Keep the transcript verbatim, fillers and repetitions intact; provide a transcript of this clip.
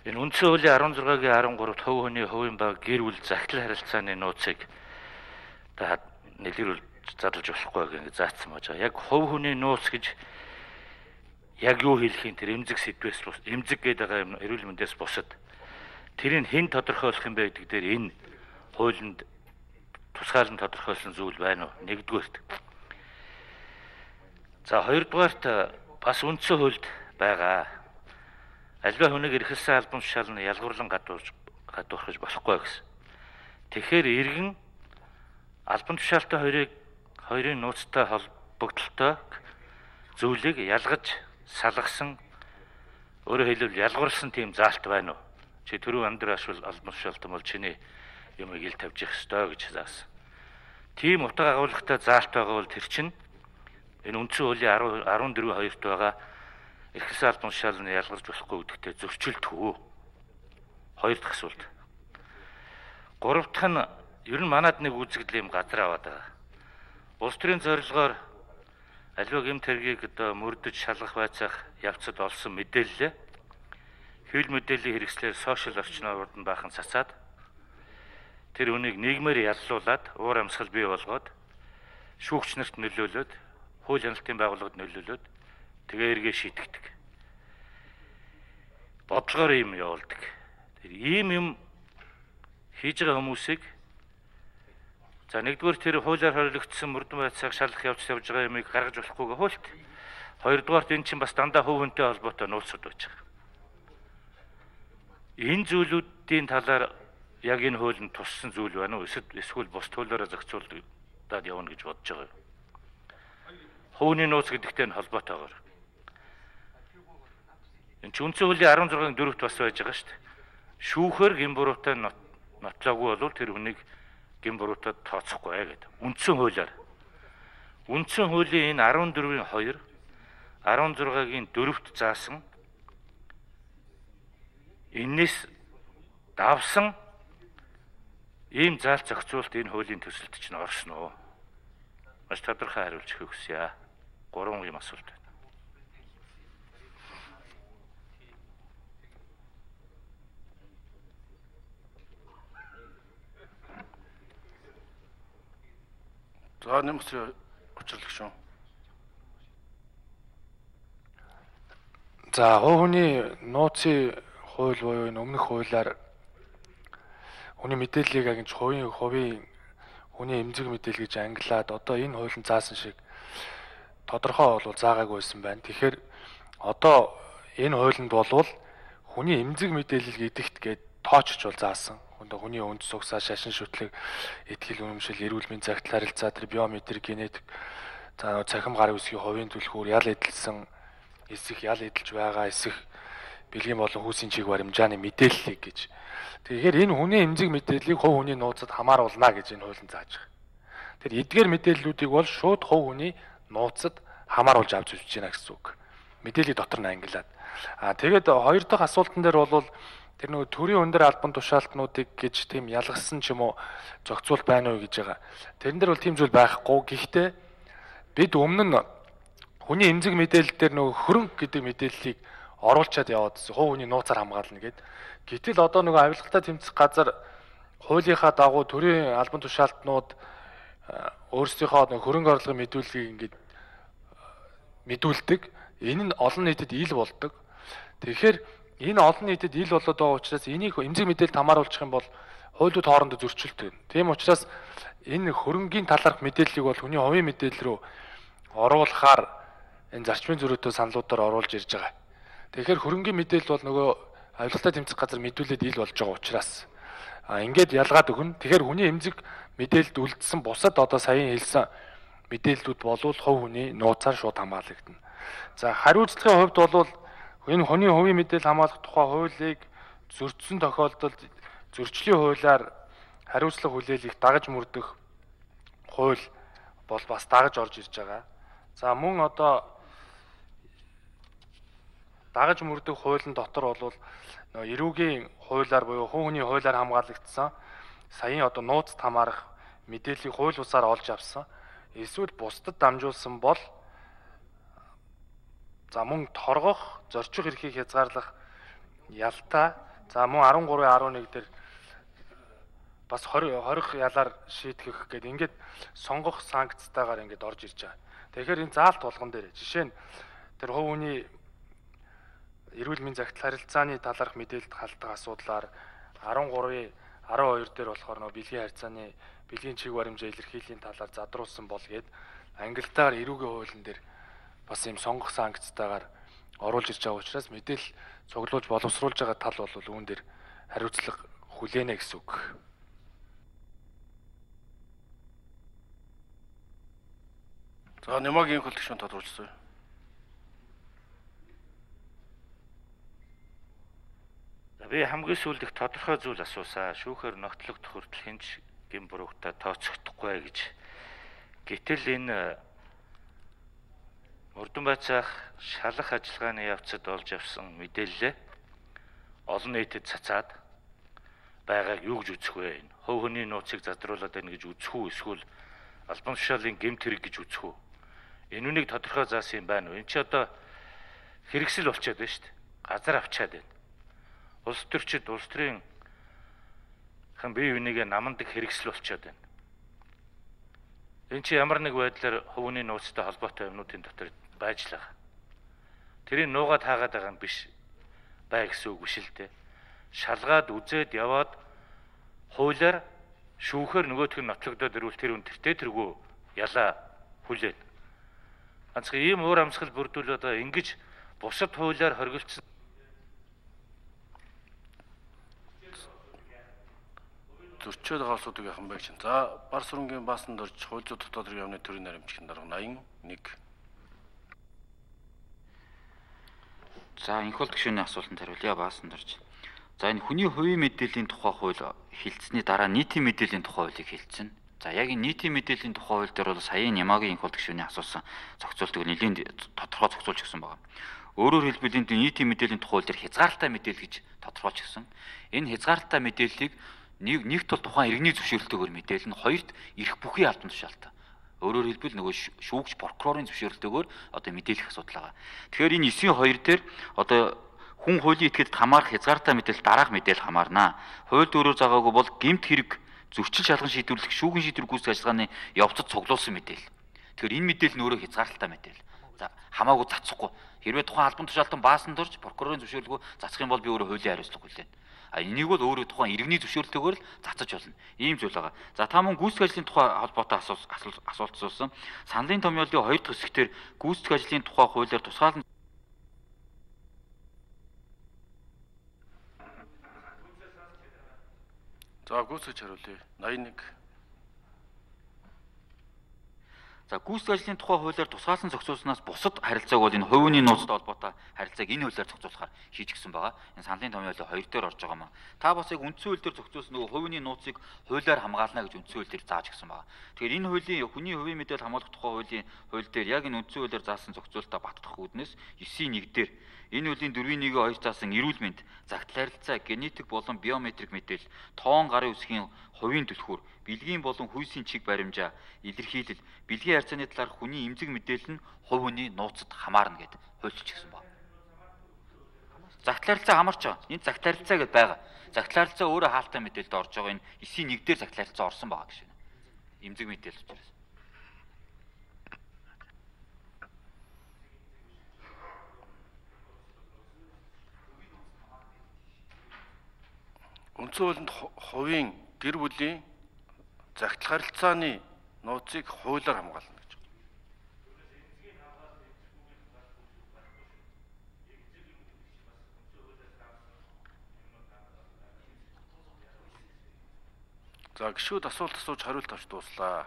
Энэ үндсэн хуулийн арван зургагийн арван гуравт хувь хүний хувийн баг гэр бүл захирал харилцааны нууцыг та нэлгэрүүл задлж болохгүй гэж заасан байж байгаа. Яг хувь хүний нууц гэж яг юу хэлэхийн тэр эмзэг сэдвээс бус эмзэг гэдэг байгаа юм эрүүл мэндээс бусад тэрийг хэн тодорхойлох юм бэ гэдэг дээр энэ хуулинд тусгаалan тодорхойлсон зүйл байна уу? Нэгдүгээрт. За хоёрдугаарт бас үндсэн хуульд байгаа. Альва хүнийг эрхэлсэн албан тушаал нь ялгуурлан гадуурж гадуурхаж болохгүй гэсэн. Тэгэхээр иргэн албан тушаалтай хоёрыг хоёрын нууцтай холбогдлолтой зүйлийг ялгаж салгасан өөрөөр хэлбэл ялгуурласан тийм заалт байна уу? Чи түрүү амьдрал ашвал албан тушаалтан бол чиний юмыг ил тавьж явах ёстой гэж заасан. Тийм утга агуулгатай заалт байгаа бол тэр чинь энэ үндсэн хуулийн арван дөрвөн хоёрт байгаа эрхэлсэн албан тушаалыг ялгарч болохгүй гэдэгтээ зөрчилдөхөө. Хоёр дахь асуулт. Гурав дахь нь ер нь манад нэг үзэгдэл юм газар аваад байгаа. Улс төрийн зорилгоор аливаа гэмт хэргийг одоо мөрдөж шалгах байцаах явцад олсон мэдээлэл хэвлэл мэдээллийн хэрэгслээр сошиал орчноор нь баахан цацаад тэр үнийг нийгмээр яллуулад уур амьсгал бий болгоод шүүгч нарт нөлөөлөд хууль хяналтын байгууллагад нөлөөлөд тэгээ эргээ шийтгэдэг. Бодлогоор юм явуулдаг. Тэр ийм юм хийж байгаа хүмүүсийг за нэгдүгээр тэр хуулиар хоригдсон мөрдөн байцааг шалгах явц явж байгаа юмыг гаргаж болохгүйгээ хуульт. Хоёрдугаарт энэ чинь бас дандаа хувь хүнтэй холбоотой нууцуд байж байгаа. Энэ зүйлүүдийн талаар яг энэ хуулинд туссан зүйл байна уу? Эсвэл бус төлөөрөө зохицуулдаад явна гэж бодож байгаа юу? Хувийн нууц гэдэгтэй нь холбоотойгоор. Энэ ч үндсэн хуулийн арван зургагийн дөрөвт бас байж байгаа шүү дээ. Шүүхээр гин буруутай нотлоогүй бол тэр хүнийг гин буруутад тооцохгүй гэдэг. Үндсэн хуулиар. Үндсэн хуулийн энэ арван дөрвийн хоёр, арван зургагийн дөрөвт заасан энэс давсан ийм заалт зохицуулт энэ хуулийн төсөлд чинь орсон уу? Маш тодорхой хариулж өгөх хүсье. Гурван юм асуулт байна. За нэмс учрлах шүү. За хувь хүний нууцын хууль буюу энэ өмнөх хуулиар хүний мэдээллийг агнж хувийн хувийн хүний эмзэг мэдээлэл гэж ангилаад одоо энэ хуулийн заасан шиг тодорхой бол заагаагүй байсан байна. Тэгэхээр одоо энэ хуулинд болвол хүний эмзэг мэдээлэл гэдэгт гээд тоочч бол заасан. Одоо хүний үнд сугсаа, шашин шүтлэг, этгэл үнэмшил, эрүүл мэндийн цагт харилцаа, тэр биометрик, генетик, за цахим гар үсгийн хувийн түлхүүр, ял эдэлсэн, эсэх ял эдэлж байгаа эсэх бэлгийн болон хүүсийн чиг баримжааны мэдээллийг гэж. Тэгэхээр энэ хүний эмзэг мэдээллийг хувь хүний нууцад хамааруулна гэж энэ хууль нь зааж байгаа. Тэр эдгээр мэдээллүүдийг бол шууд хувь хүний нууцад хамааруулж авч үзэж байна гэсэн үг. Мэдээллийг дотор нь ангилаад. Аа тэгээд хоёр дахь асуултан дээр бол тэр нөгөө төрийн өндөр албан тушаалтнуудыг гэж тийм ялгсан ч юм уу зохицуул байна уу гэж байгаа. Тэрэн дээр бол тийм зүйл байхгүй. Гэхдээ бид өмнө нь хүний эмзэг мэдээлэл дээр нөгөө хөрөнгө гэдэг мэдээллийг оруулчаад яваад хувь хүний нууцаар хамгаална гэд. Гэтэл одоо нөгөө авилгалтай тэмцэх газар хуулийнхаа дагуу төрийн албан тушаалтнууд өөрсдийнхөө нөгөө хөрөнгө орлогын мэдүүлгийг ингээд мэдүүлдэг. Энэ нь олон нийтэд ил болдог. Тэгэхээр энэ олон нийтэд ил болоод байгаа учраас энийг эмзэг мэдээлэлд хамааруулчих юм бол хуулиуд хоорондоо зөрчилт байна. Тийм учраас энэ хөрөнгийн талаарх мэдээллийг бол хүний хувийн мэдээлэл рүү оруулахаар энэ зарчмын зөрүүтэй саналуудаар оруулж ирж байгаа. Тэгэхээр хөрөнгийн мэдээлэл бол нөгөө авилгалтай тэмцэх газар мэдүүлээд ил болж байгаа учраас а ингээд ялгаад өгнө. Тэгэхээр хүний эмзэг мэдээлэлд үлдсэн бусад одоо саяхан хэлсэн мэдээллүүд болвол хувь хүний нууцаар шууд хамгаалагдана. За хариуцлагын хувьд бол энэ хүний хувийн мэдээлэл хамгаалах тухай хуулийг зөрчсөн тохиолдолд зөрчлийн хуулиар хариуцлага хүлээлгэх дагаж мөрдөх хууль бол бас дагаж орж ирж байгаа. За мөн одоо дагаж мөрдөх хуулийн дотор бол эрүүгийн хуулиар буюу хувь хүний хуулиар хамгаалагдсан саяын одоо нууцд хамаарах мэдээллийг хууль бусаар олж авсан эсвэл бусдад дамжуулсан бол за мөн торгох, зорчих эрхийг хязгаарлах ялтаа За мөн арван гурвын арван нэг дээр бас хорих ялаар шийтгэх гэдэг ингээд сонгох санкцтайгаар ингээд орж ирж байгаа. Тэгэхээр энэ заалт болгон дээр жишээ нь тэр хувь хүний эрүүл мэндийн загтал харилцааны талаарх мэдээлэлд халдах асуудлаар арван гурвын арван хоёр дээр болохоор нөө бэлгийн харьцааны бэлгийн чиг баримжаа илэрхийллийн талаар задруулсан бол гээд ангилтаар эрүүгийн хуулийн дээр бас юм сонгох санкцтайгаар оруулж ирж байгаа учраас мэдээлэл цуглуулж боловсруулж байгаа тал бол үүн дээр хариуцлага хүлээнэ гэсэн үг. За Нямагийн хөлтгшүүн тодруулсан. Би хамгийн сүүлд их тодорхой зүйл асуусаа. Шүүхээр ногтлогдох хүртэл хинч гин буруутай тооцохдохгүй гэж. Гэтэл энэ Мөрдөн байцаах шалах ажиллагааны явцад олж авсан мэдээлэл олон нийтэд цацаад байгааг юу гэж үзэх вэ? Хувь хүний нууцыг задруулаад байна гэж үзэх үү? Эсвэл албан тушаалын гэмт хэрэг гэж үзэх үү? Энэ үнийг тодорхой заасан юм байна уу? Энд чи одоо хэрэгсэл болчиход байна шүү дээ. Газар авчаад байна. Улс төрчид улс төрийн хэн бие бинийгээ намандаг хэрэгсэл болчиход байна. Энэ чи ямар нэг байдлаар хувийн нууцтай холбоотой юмнуудын дотор байж л байгаа. Тэрийг нуугаад хаагаад байгаа юм биш бай гэсэн үг биш л дээ. Шалгаад үзээд яваад хуулиар шүүхээр нөгөөх нь нотлогдоод ирвэл тэр үнэртэй тэргүй ялаа хүлээн. Ганцхан ийм уур амьсгал бүрдүүлээд байгаа ингэж бусад хуулиар хоригдсон зөрчөөд байгаа улсуудыг яхан байх чинь. За бар сүрэнгийн баасанд орж хууль зүйн дотоод хэргийн яамны төрийн наримчгийн дарга восемьдесят один. За энх бол гишүүний асуултанд хариулъя баасанд орж. За энэ хүний хувийн мэдээллийн тухай хууль хэлцсэний дараа нийтийн мэдээллийн тухай хуулийг хэлсэн. За яг энэ нийтийн мэдээллийн тухай хууль дээр бол саяын Нямагийн энх бол гишүүний асуусан зохицуултыг нэлийн тодорхой зохицуулж өгсөн байна. Өөрөөр хэлбэл энэ нийтийн мэдээллийн тухай хууль дээр хязгаарлалтай мэдээлэл гэж тодорхойлж өгсөн. Энэ хязгаарлалтай мэдээллийг нэг нэгт бол тухайн иргэний зөвшөөрлөлтөөр мэдээлнэ, хоёрт эрх бүхий албан тушаалтай. Өөрөөр хэлбэл нөгөө шүүгч прокурорын зөвшөөрлөлтөөр одоо мэдээлэх асуудал байгаа. Тэгэхээр энэ эсийн хоёр дээр одоо хүн хуулийн этгээдэд хамаарах хязгаартай мэдээлэл дараах мэдээлэл хамаарнаа. Хуульд өөрөөр заагаагүй бол гэмт хэрэг зөрчил шалган шийдвэрлэх шүүгэн шийдвэр гүйцэтгэх ажиллагааны явцад цуглуулсан мэдээлэл. Тэгэхээр энэ мэдээлэл нь өөрөө хязгаарлалтай мэдээлэл. За хамаагүй цацхгүй. Хэрвээ тухайн албан тушаалтан баасан дурж прокурорын зөвшөөрлөгөө цацах юм бол би өөрөө хуулийн хариуцлага хүлээнэ. А энийг бол өөрөө тухайн иргэний зөвшөөрлөлтөөр л цацаж болно. Ийм зүйл байгаа. За та мөн гүйцэтгэх ажлын тухай холбоотой асуулт асуусан. Саналын томьёолын хоёр дахь хэсгээр гүйцэтгэх ажлын тухай хуулиар тусгаалan За гүйцэтгэж хариулъя. восемьдесят один. За гүйцэтгэх ажлын тухай хуулиар тусгаалсан зохицуулснаас бусад харилцааг бол энэ хувийн нууцтай холбоотой харилцааг энэ хуулиар зохицуулахаар хийж гисэн байгаа. Энэ саналын томьёолын хоёр дээр орж байгаа маа. Та бас яг үндсэн хууль дээр зохицуулсан нөгөө хувийн нууцыг хуулиар хамгаална гэж үндсэн хууль дээр зааж гисэн байгаа. Тэгэхээр энэ хуулийн хүний хувийн мэдээлэл хамгаалах тухай хуулийн хууль дээр яг энэ үндсэн хуулиар заасан зохицуулалтаа баттгах үүднээс девять нэг дээр энэ хуулийн дөрвийн нэг хоёр заасан эрүүл мэнд, загтал харилцаа, генетик болон биометрик мэдээлэл, тоон гарын үсгийн хувийн түлхүүр, бэлгийн болон хүйсийн чиг баримжаа, илэрхийлэл, бэлгийн харьцааны талаар хүний эмзэг мэдээлэл нь хувь хүний нууцад хамаарна гэд хуульчилж гисэн байна. Загтал харилцаа хамаарч байгаа. Энд загтал харилцаа гэдээ байгаа. Загтал харилцаа өөрөө хаалттай мэдээлэлд орж байгаа. Энэ девять нэг дээр загтал харилцаа орсон байгаа гэж байна. Эмзэг мэдээлэл учраас. Үндсэн хуулинд хувийн гэр бүлийн загтал харилцааны нууцыг хуулиар хамгаална гэж. За гişүүд асуулт асууж хариулт авч дууслаа.